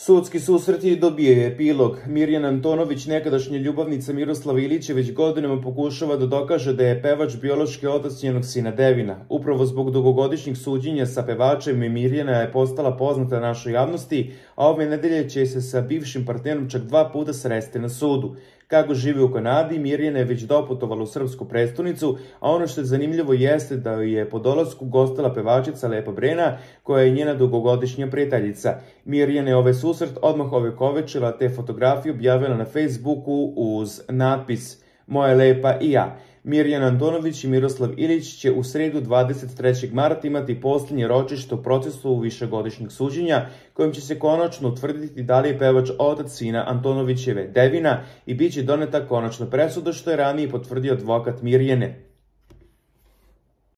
Sudski susreti dobije epilog. Mirjana Antonović, nekadašnja ljubavnica Miroslava Ilića, već godinama pokušava da dokaže da je pevač biološki otac njenog sina Devina. Upravo zbog dugogodišnjih suđenja sa pevačem Mirjana je postala poznata našoj javnosti, a ove nedelje će se sa bivšim partnerom čak 2 puta sresti na sudu. Kako živi u Kanadi, Mirjana je već doputovala u srpsku prestonicu, a ono što je zanimljivo jeste da je po dolasku gostila pevačica Lepa Brena, koja je njena dugogodišnja prijateljica. Mirjana je ovaj susret odmah ovekovečila te fotografije objavila na Facebooku uz natpis "Moja lepa i ja". Mirjana Antonović i Miroslav Ilić će u sredu 23. marta imati posljednje ročište u procesu višegodišnjeg suđenja, kojim će se konačno utvrditi da li je pevač otac sina Antonovićeve Devina i bit će doneta konačna presuda, što je ranije potvrdio advokat Mirjane.